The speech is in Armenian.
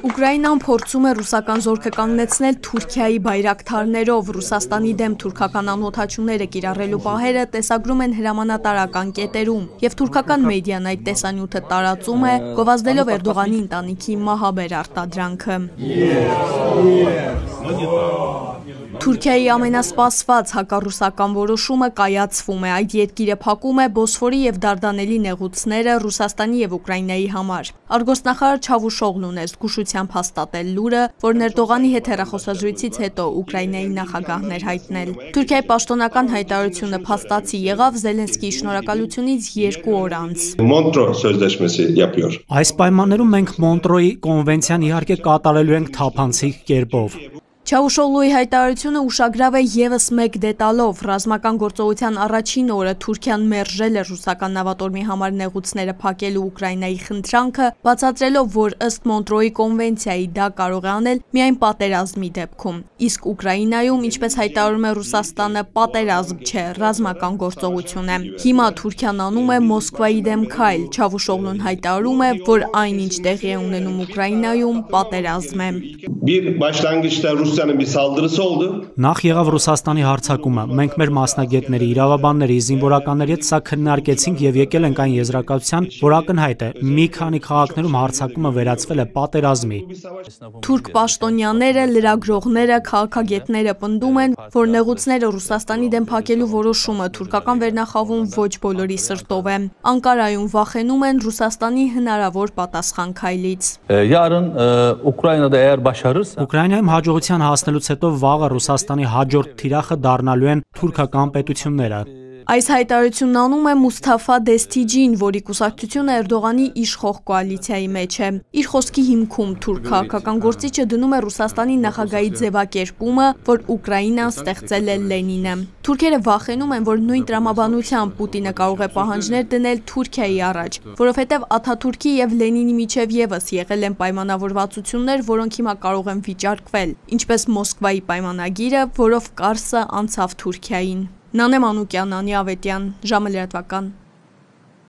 Ուկրաինան փորձում է ռուսական զորքը կանգնեցնել Թուրքիայի բայրակթարներով, Ռուսաստանի դեմ թուրքական անօդաչուները կիրառելու պահերը տեսագրում են հրամանատարական կետերում, եւ թուրքական մեդիան այդ տեսանյութը տարածում է, գովազդելով Էրդողանի ընտանիքի մահաբեր արտադրանքը։ Թուրքիայի ամենասպասված հակառուսական որոշումը կայացվում է, այդ երկիրը փակում է Բոսֆորի եւ Դարդանելի նեղուցները Ռուսաստանի եւ Ուկրաինայի համար։ Արգոսնախարար Չավուշօղլուն է զգուշությամբ հաստատել լուրը, որ Էրդողանի հետ հեռախոսազրույցից հետո Ուկրաինայի նախագահն էր հայտնել։ Թուրքիայի պաշտոնական հայտարարությունը փաստացի եղավ Զելենսկիի շնորհակալությունից 2 օր անց։ Մոնտրո սözleşmesi yapıyor։ Այս պայմաններում մենք Մոնտրոյի կոնվենցիան իհարկե կատարելու ենք թափանցիկ կերպով։ Չավուշօղլուի հայտարարությունը ուշագրավ է ևս մեկ դետալով։ Ռազմական գործողության առաջին օրը Թուրքիան մերժել է ռուսական նավատորմի համար նեղուցները փակելու Ուկրաինայի խնդրանքը, բացատրելով, որ ըստ Մոնտրոյի կոնվենցիայի դա կարող է անել միայն պատերազմի դեպքում։ Իսկ Ուկրաինայում, ինչպես հայտարարում է Ռուսաստանը, պատերազմ չէ, ռազմական գործողություն է։ Հիմա Թուրքիան անում է Մոսկվայի դեմ քայլ։ Չավուշօղլուն հայտարարում է, որ այնինչ տեղի է ունենում Ուկրաինայում, պատերազմ է։ Նախ եղավ Ռուսաստանի հարձակումը, մենք մեր մասնագետների, իրավաբանների, զինվորականների հետ սա քննարկեցինք եւ եկել ենք այն եզրակացության, որ ակնհայտ է, մի քանի քաղաքներում հարձակումը վերածվել է պատերազմի։ Թուրք պաշտոնյաները, լրագրողները, քաղաքագետները պնդում են, որ նեղուցները Ռուսաստանի դեմ փակելու որոշումը թուրքական վերնախավում ոչ բոլորի սրտով է։ Անկարայում վախենում են Ռուսաստանի հնարավոր պատասխան քայլից։ Ուկրաինայում հաջողության հասնելուց հետո վաղը Ռուսաստանի հաջորդ թիրախը դառնալու են թուրքական պետությունները։ Այս հայտարարությունն անում է Մուսթաֆա Դեստիջին, որի կուսակցությունը Էրդողանի իշխող կոալիցիայի մեջ է։ Իր խոսքի հիմքում թուրք քաղաքական գործիչը դնում է Ռուսաստանի նախագահի ձևակերպումը, որ Ուկրաինան ստեղծել է Լենինը։ Թուրքերը վախենում են, որ նույն տրամաբանությամբ Պուտինը կարող է պահանջներ դնել Թուրքիայի առաջ, որովհետև Աթաթուրքի եւ Լենինի միջև եւս եղել են պայմանավորվածություններ, որոնք հիմա կարող են վիճարկվել, ինչպես Մոսկվայի պայմանագիրը, որով Կարսը անցավ Թուրքիային։ Նանե Մանուկյան, Անի Ավետյան, ժամը լրատվական։